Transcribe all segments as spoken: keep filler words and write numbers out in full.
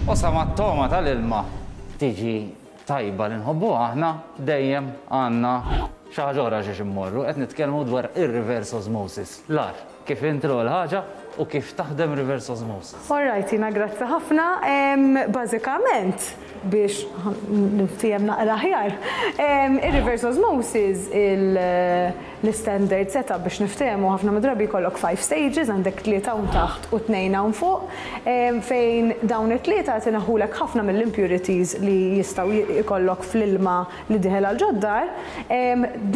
U sa mat-togħma tal-ilma tiġi tajba li nħobbu aħna, dejjem għandna xi ħaġa oħra xiex immorru. Qed nitkellmu dwar ir-reverse osmosis. Lar, kif intru l-ħaġa u kif taħdem reverse osmosis. All right, jina grazzi ħafna. Bażikament, biex niftiehem naqra aħjar, ir-reverse osmosis, l-standard setup, biex niftehmu, ħafna drabi jkollok five stages, għandek tlieta hawn taħt u tnejn hawn fuq, fejn dawn it-tlieta tneħħulek ħafna mill-impurities li jistgħu jkollok fl-ilma li dieħel għal ġod-dar.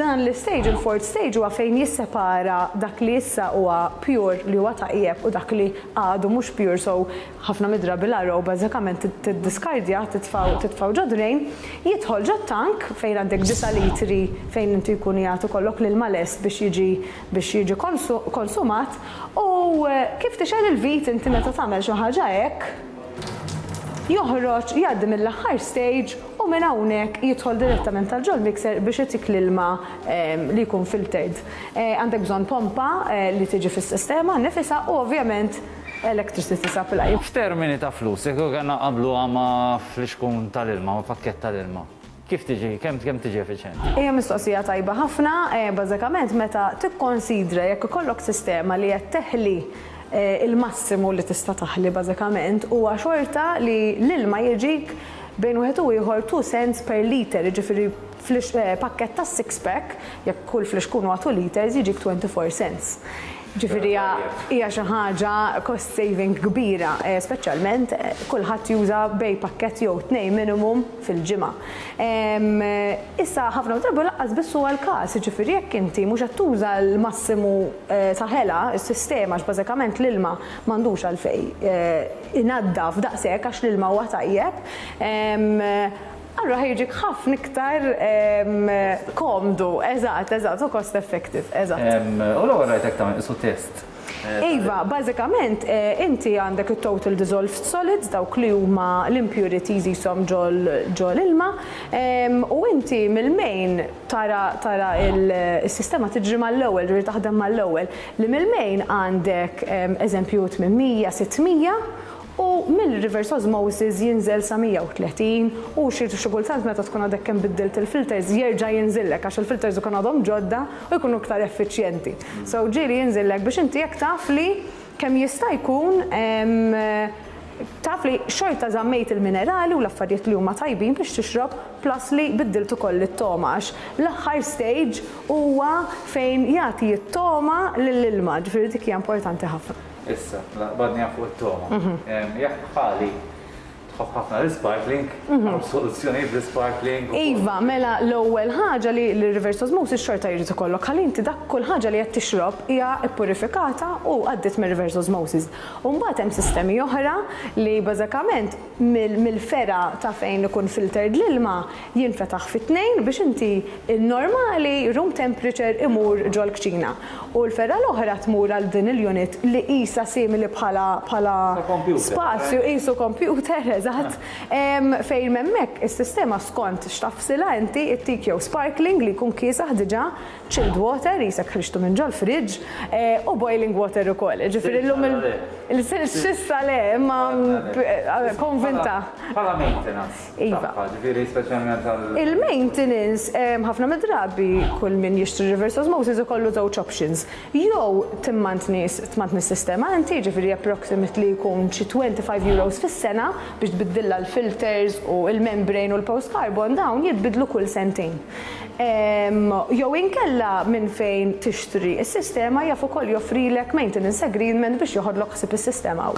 Dan l-stage, il-fourth stage, huwa fejn jissepara dak li issa huwa pure, li huwa tajjeb, u dak li għadu mhux pure, so ħafna mid-drabi l-R O bażikament tiddiskardja, titfgħu titfgħu ġo drain, jidħol ġo tank fejn għandek disa' litri fejn inti jkun jagħtu kollok l-ilma lest biex jiġi biex jiġi konsumat u eh, kif tixgħel il-vit inti meta tagħmel xi ħaġa hekk, joħroġ, jgħaddi mill-aħħar stage u minn hawnhekk jidħol direttament tal ġol mixer biex itik l-ilma li jkun filtered. Eh, għandek bżonn pompa eh, li tiġi fis-sistema nifisha u ovvjament electricity supply. F'termini ta' flus, jekk għandna qablu ma' flixkun tal-ilma, ma' pakket tal-ilma, kif tiġi, kemm kemm tiġi effiċjenti? Hija mistoqsija tajba ħafna. eh, bażikament meta tikkonsidra jekk ikollok sistema li qed teħli eh, il-massimu li tista' taħli, bażikament huwa xorta li l-ilma jiġik bejn wieħed u ieħor two cents per liter, jiġifieri eh, pakket ta' six pack, jekk kull flixkun huwa two liters, jiġik twenty-four cents. Ġifieri hija xi ħaġa cost saving kbira, eh, speċjalment eh, kulħadd juża bejn pakkett jew tnejn minimum fil-ġimgħa. Issa ħafna drabi lanqas biss huwa l-każ, ġifieri jekk inti mhux qed tuża l-massimu eh, ta' ħela, is-sistema, għax bażikament l-ilma m'għandux għalfejn inaddaf daqshekk għax l-ilma huwa tajjeb. Allura ħa jiġik ħafna iktar komdu, eżatt, eżatt, u cost effective, eżatt. U l-ewwel rajtek tagħmel isu test. Iva, bażikament inti għandek il-total dissolved solids, dawk li huma l-impurities jisom ġol ilma, u inti mill-main tara tara il-sistema tiġri mal-ewwel, ġifieri taħdem mal-ewwel, li mill-main għandek eżempju tmien mija, sitt mija, u mill-reverse osmosis jinżel sa mija u tletin u xi xi kultant meta tkun għadek kemm biddilt il-filters jerġa' jinżillek għax il-filters ikun għadhom ġodda u jkunu iktar effiċjenti. So ġieli jinżillek biex inti jekk taf li kemm jista' jkun taf li xorta żammejt il-minerali u l-affarijiet li huma tajbin biex tixrob, plus li biddilt ukoll it-togħma, għax l-aħħar stage huwa fejn jagħti t-togħma lill-ilma, ġifieri dik hija importanti ħafna. Issa, badni fuq it-togħma. Jekk bħali tħobb ħafna l-sparkling, mhm. soluzzjoni bl-sparkling. Iva, mela l-ewwel ħaġa li l-reverse osmosis xorta jrid ikollok ħalli inti dak kull ħaġa li qed tixrob hija ppurifikata u għaddiet mir-reverse osmosis. U mbagħad hemm sistemi oħra li bażikament mill-fergħa ta' fejn ikun filtered l-ilma jinfetaħ fit-tnejn biex inti il-normali room temperature imur ġol-kċina. U l-fergħa l-oħra tmur għal din il-unit li qisha simili bħala bħala spazju qisu computer, eżatt, fejn hemmhekk is-sistema skont x'tagħfsilha inti ittik jew sparkling li jkun kiesaħ diġà, chilled water qisek ħriġtu minn ġol fridge eh, u boiling water ukoll. Ġifieri llum il-sissa le, imma eh, konvinta. Bħala maintenance. Iva. Ġifieri speċjalment għal. Il-maintenance, ħafna mid-drabi kull min jixtri reverse osmosis ikollu żewġ options. Jew timmantni tmantni s-sistema inti, ġifieri approximately jkun xi twenty-five euros fis-sena biex tbiddilla l-filters u il-membrane u l-post carbon, dawn jitbidlu kull sentejn. Jew inkella minn fejn tixtri is-sistema jaf ukoll joffrilek maintenance agreement biex joħodlok ħsieb is-sistema.